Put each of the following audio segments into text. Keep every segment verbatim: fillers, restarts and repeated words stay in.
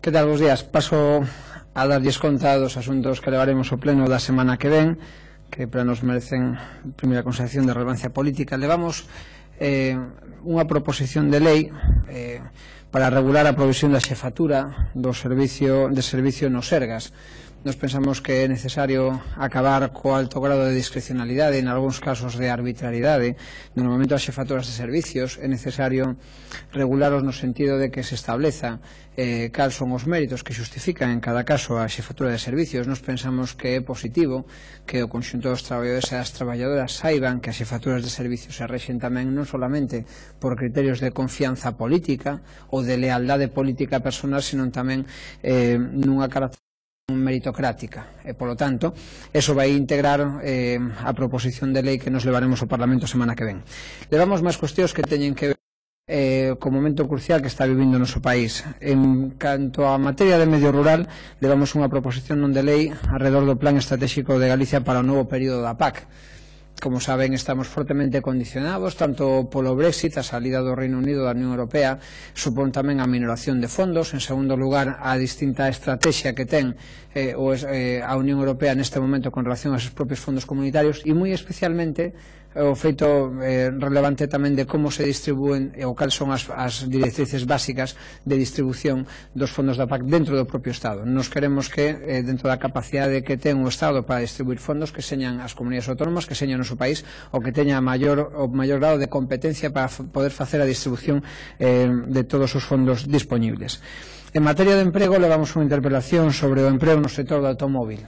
Que tal, bos días? Paso a darlles conta dos asuntos que levaremos ao pleno da semana que ven, que para nos merecen primeira consideración de relevancia política. Levamos eh, unha proposición de lei eh, para regular a provisión da xefatura do servicio de servicio nos Sergas. Nos pensamos que é necesario acabar co alto grado de discrecionalidade, en algúns casos de arbitrariedade, no momento das xefaturas de servicios. É necesario regularos no sentido de que se estableza eh, cal son os méritos que xustifican en cada caso a xefatura de servicios. Nos pensamos que é positivo que o conxunto dos traballadores e das traballadoras saiban que as xefaturas de servicios se rexen tamén non solamente por criterios de confianza política ou de lealdade política personal, senón tamén eh, nunha característica meritocrática, e polo tanto eso vai integrar eh, a proposición de lei que nos levaremos ao Parlamento a semana que ven. Levamos máis cuestións que teñen que ver eh, co momento crucial que está vivindo o noso país. En canto á materia de medio rural, levamos unha proposición non de lei alrededor do Plan Estratégico de Galicia para o novo período da P A C. Como saben, estamos fortemente condicionados tanto polo Brexit, a salida do Reino Unido da Unión Europea, supón tamén a minoración de fondos. En segundo lugar, a distinta estrategia que ten eh, o, eh, a Unión Europea neste momento con relación aos seus propios fondos comunitarios, e moi especialmente o feito eh, relevante tamén de como se distribúen ou cal son as, as directrices básicas de distribución dos fondos da P A C dentro do propio Estado. Nos queremos que, eh, dentro da capacidade que ten o Estado para distribuir fondos, que señan as comunidades autónomas, que señan o noso país, o que teña maior, o maior grado de competencia para poder facer a distribución eh, de todos os fondos disponibles. En materia de emprego, levamos unha interpelación sobre o emprego no sector do automóvil.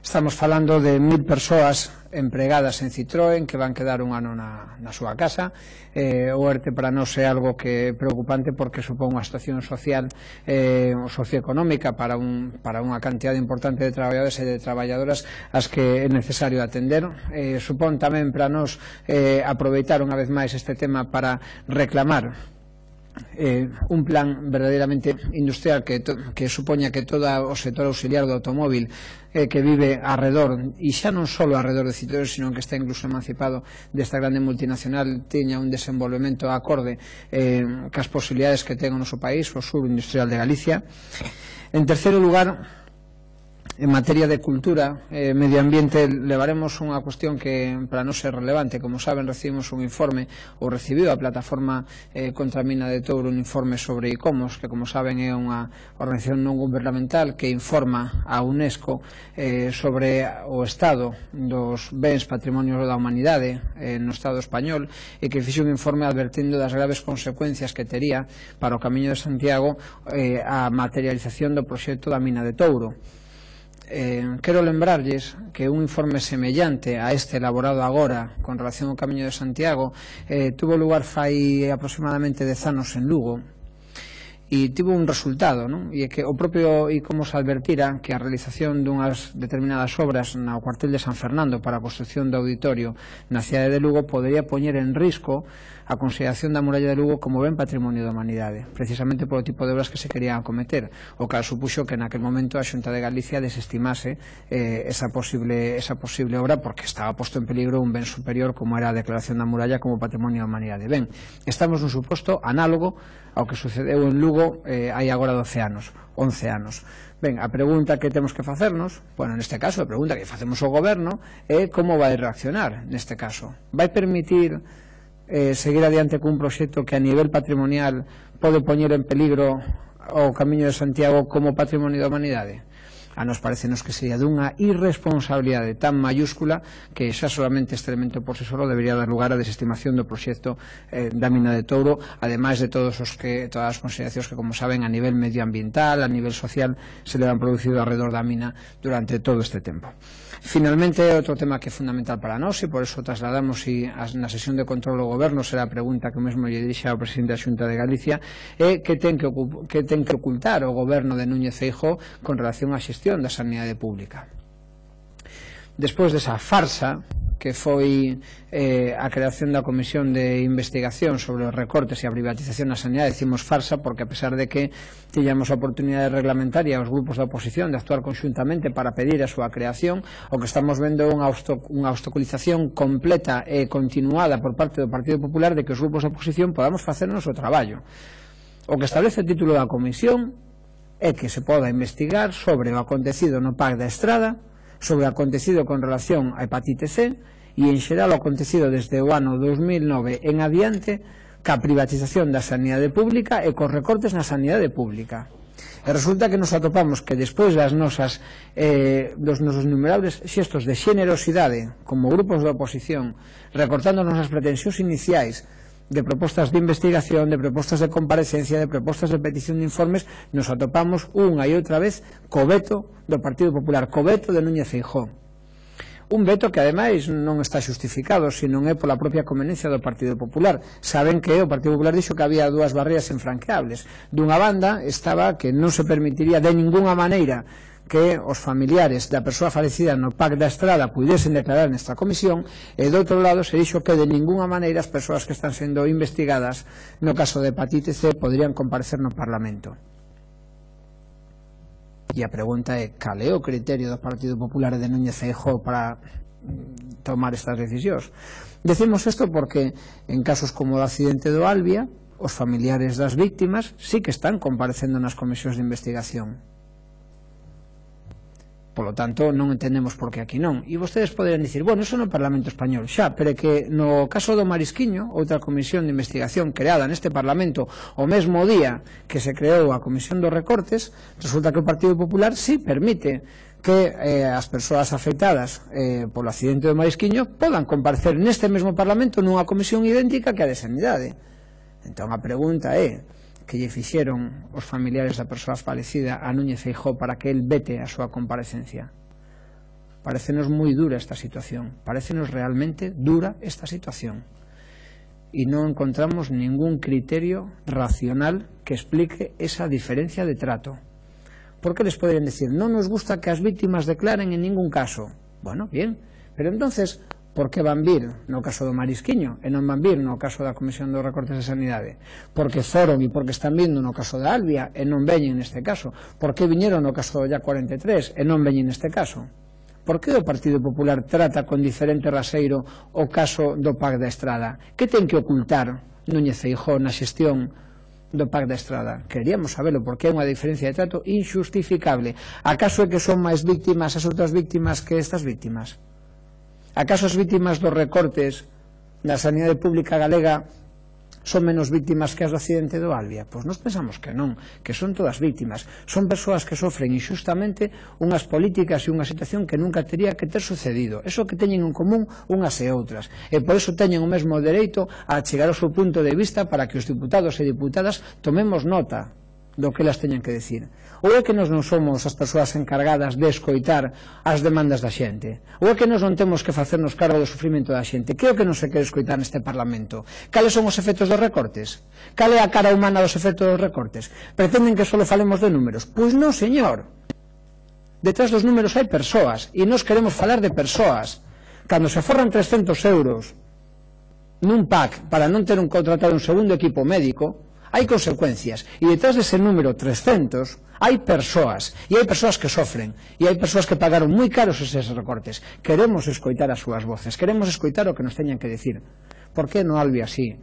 Estamos falando de mil persoas empregadas en Citroën que van quedar un ano na, na súa casa. Eh, o ERTE para nós é algo que é preocupante porque supón unha situación social eh, socioeconómica para, un, para unha cantidad importante de traballadores e de traballadoras as que é necesario atender. Eh, supón tamén para nós eh, aproveitar unha vez máis este tema para reclamar Eh, un plan verdadeiramente industrial que, to, que supoña que todo o sector auxiliar do automóvil eh, que vive arredor, e xa non só arredor de Citroën, sino que está incluso emancipado desta grande multinacional, teña un desenvolvemento acorde eh, cas posibilidades que ten o noso país, o sur industrial de Galicia. En terceiro lugar, en materia de cultura e eh, medio ambiente, levaremos unha cuestión que para nós é relevante. Como saben, recibimos un informe, ou recibiu a plataforma eh, contra a mina de Touro un informe sobre ICOMOS, que como saben é unha organización non gubernamental que informa a UNESCO eh, sobre o estado dos bens patrimonios da humanidade eh, no Estado español, e que fixe un informe advertindo das graves consecuencias que tería para o Camiño de Santiago eh, a materialización do proxecto da mina de Touro. Eh, quero lembrarlles que un informe semellante a este elaborado agora con relación ao Camiño de Santiago eh, tuvo lugar fai aproximadamente dez anos en Lugo, e tivo un resultado, non? E é que o propio ICOMOS advertira que a realización dunhas determinadas obras no cuartel de San Fernando para a construción do auditorio na cidade de Lugo podería poñer en risco a consideración da muralla de Lugo como ben patrimonio da humanidade, precisamente polo tipo de obras que se querían acometer, o cal supuxo que naquel momento a Xunta de Galicia desestimase eh, esa, posible, esa posible obra porque estaba posto en peligro un ben superior como era a declaración da muralla como patrimonio da humanidade. Ben, estamos nun suposto análogo ao que sucedeu en Lugo eh, hai agora doce anos, once anos. Ben, a pregunta que temos que facernos, bueno, neste caso, a pregunta que facemos ao goberno é como vai reaccionar neste caso. Vai permitir eh, seguir adiante cun proxecto que a nivel patrimonial pode poñer en peligro o Camiño de Santiago como patrimonio da humanidade? A nos parecenos que sería dunha irresponsabilidade tan mayúscula que xa solamente este elemento por si solo debería dar lugar á desestimación do proxecto eh, da mina de Touro, ademais de todos os que, todas as consideracións que, como saben, a nivel medioambiental, a nivel social, se le han producido alrededor da mina durante todo este tempo. Finalmente, outro tema que é fundamental para nós, e por eso trasladamos e na sesión de control do goberno será a pregunta que mesmo lle dirixa ao presidente da Xunta de Galicia, é que ten que, que ten que ocultar o goberno de Núñez Feijóo con relación á xestión da sanidade pública. Despois desa farsa que foi eh, a creación da Comisión de Investigación sobre os recortes e a privatización na sanidade, decimos farsa porque a pesar de que tiñamos a oportunidade reglamentaria aos grupos da oposición de actuar conxuntamente para pedir a súa creación, o que estamos vendo é unha, unha obstaculización completa e continuada por parte do Partido Popular de que os grupos da oposición podamos facer o noso traballo. O que establece o título da Comisión é que se poda investigar sobre o acontecido no P A C da Estrada, sobre o acontecido con relación á hepatite C e en xeral o acontecido desde o ano dos mil nove en adiante ca privatización da sanidade pública e cos recortes na sanidade pública. E resulta que nos atopamos que despois das nosas, eh, dos nosos innumerables xestos de xenerosidade como grupos de oposición, recortando nosas pretensións iniciais de propostas de investigación, de propostas de comparecencia, de propostas de petición de informes, nos atopamos unha e outra vez co veto do Partido Popular, co veto de Núñez Feijóo. Un veto que ademais non está xustificado, sino é pola propia conveniencia do Partido Popular. Saben que o Partido Popular dixo que había dúas barreiras infranqueables. Dunha banda estaba que non se permitiría de ningunha maneira que os familiares da persoa falecida no P A C da Estrada puidesen declarar nesta comisión, e do outro lado se dixo que de ningunha maneira as persoas que están sendo investigadas no caso de hepatite C poderían comparecer no Parlamento. E a pregunta é, cal é o criterio do Partido Popular de Núñez Feijóo para tomar estas decisións? Decimos isto porque en casos como o accidente do Albia, os familiares das víctimas sí que están comparecendo nas comisións de investigación. Polo tanto, non entendemos por que aquí non. E vostedes poderían dicir, bueno, eso no Parlamento Español, xa, pero é que no caso do Marisquiño, outra comisión de investigación creada neste Parlamento o mesmo día que se creou a Comisión dos Recortes, resulta que o Partido Popular sí permite que eh, as persoas afectadas eh, polo accidente do Marisquiño podan comparecer neste mesmo Parlamento nunha comisión idéntica que a de Sanidade. Entón a pregunta é, que lle fixeron os familiares da persoa falecida a Núñez Feijóo para que el vete a súa comparecencia? Parécenos moi dura esta situación, parécenos realmente dura esta situación, e non encontramos ningún criterio racional que explique esa diferencia de trato. ¿Por que les poderían decir, non nos gusta que as víctimas declaren en ningún caso? Bueno, bien, pero entonces, por que van vir no caso do Marisquiño e non van vir no caso da Comisión dos Recortes de Sanidade? Porque foron e porque están vindo no caso da Albia e non veñen neste caso? Por que viñeron no caso do Ya cuarenta e tres e non veñen neste caso? Por que o Partido Popular trata con diferente raseiro o caso do P A C da Estrada? Que ten que ocultar Núñez Feijóo na xestión do P A C da Estrada? Queríamos sabelo, porque é unha diferencia de trato injustificable. Acaso é que son máis víctimas as outras víctimas que estas víctimas? Acaso as víctimas dos recortes na sanidade pública galega son menos víctimas que as do accidente do Albia? Pois nós pensamos que non, que son todas víctimas. Son persoas que sofren injustamente unhas políticas e unha situación que nunca teria que ter sucedido. Eso que teñen en común unhas e outras. E por eso teñen o mesmo dereito a chegar ao seu punto de vista para que os diputados e diputadas tomemos nota do que elas teñen que decir. Ou é que nós non somos as persoas encargadas de escoitar as demandas da xente? Ou é que nós non temos que facernos cargo do sufrimento da xente? Que é o que non se quere escoitar neste Parlamento? Cales son os efectos dos recortes? Cal é a cara humana dos efectos dos recortes? Pretenden que só falemos de números? Pois non, señor. Detrás dos números hai persoas, e nós queremos falar de persoas. Cando se aforran trescentos euros nun P A C para non ter un contratado un segundo equipo médico, hai consecuencias, e detrás dese número trescentos hai persoas, e hai persoas que sofren, e hai persoas que pagaron moi caros eses recortes. Queremos escoitar as súas voces, queremos escoitar o que nos teñan que decir. Por que no Albia sí,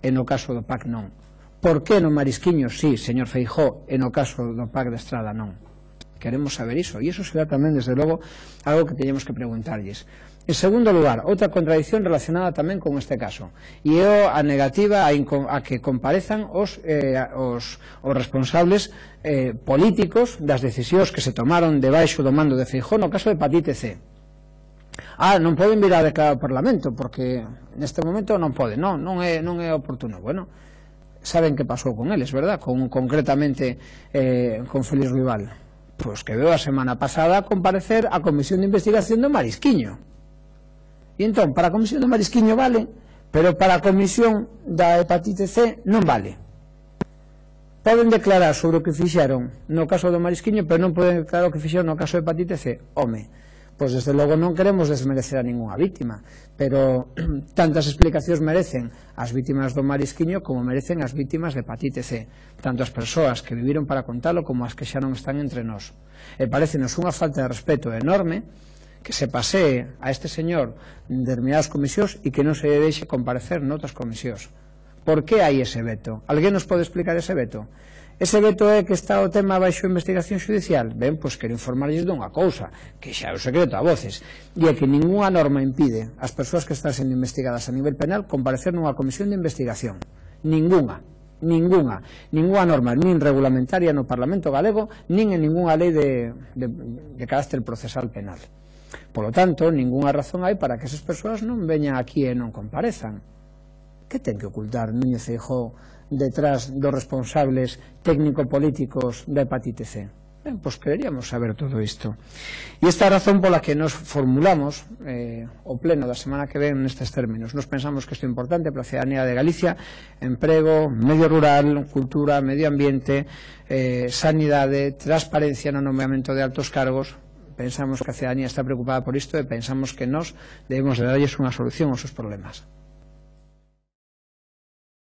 e no caso do P A C non? Por que no Marisquiño sí, señor Feijóo, e no caso do P A C da Estrada non? Queremos saber iso, e iso será tamén, desde logo, algo que teñemos que preguntarlles. En segundo lugar, outra contradición relacionada tamén con este caso, e é a negativa a, a que comparezan os, eh, os, os responsables eh, políticos das decisións que se tomaron debaixo do mando de Feijóo no caso de hepatite C. Ah, non poden vir a declarar ao Parlamento, porque neste momento non poden, non, non é, non é oportuno. Bueno, saben que pasou con eles, verdad? Con, concretamente eh, con Félix Ruibal. Pois que veo a semana pasada comparecer a Comisión de Investigación do Marisquiño. E entón, para a Comisión do Marisquiño vale, pero para a Comisión da hepatite C non vale. Poden declarar sobre o que fixeron no caso do Marisquiño, pero non poden declarar o que fixeron no caso da hepatite C. Home, pois desde logo non queremos desmerecer a ninguna víctima, pero tantas explicacións merecen as vítimas do Marisquiño como merecen as vítimas de hepatite C, tanto as persoas que viviron para contalo como as que xa non están entre nós. E parecenos unha falta de respeto enorme que se pasee a este señor en determinadas comisións e que non se deixe comparecer noutras comisións. Por que hai ese veto? Alguén nos pode explicar ese veto? Ese veto é que está o tema baixo investigación judicial. Ben, pois quero informarlles dunha cousa, que xa é o secreto a voces, e é que ninguna norma impide ás persoas que están sendo investigadas a nivel penal comparecer nunha comisión de investigación. Ninguna. Ninguna. Ninguna norma, nin regulamentaria no Parlamento galego, nin en ninguna lei de, de, de carácter procesal penal. Por lo tanto, ninguna razón hai para que esas persoas non veñan aquí e non comparezan. Que ten que ocultar Núñez Feijóo detrás dos responsables técnico-políticos da hepatite C? Ben, pois quereríamos saber todo isto. E esta é a razón pola que nos formulamos eh, o pleno da semana que ven nestes términos. Nos pensamos que isto é importante para a ciudadanía de Galicia: emprego, medio rural, cultura, medio ambiente, eh, sanidade, transparencia no nomeamento de altos cargos. Pensamos que a ciudadanía está preocupada por isto e pensamos que nós debemos de darlles unha solución aos seus problemas.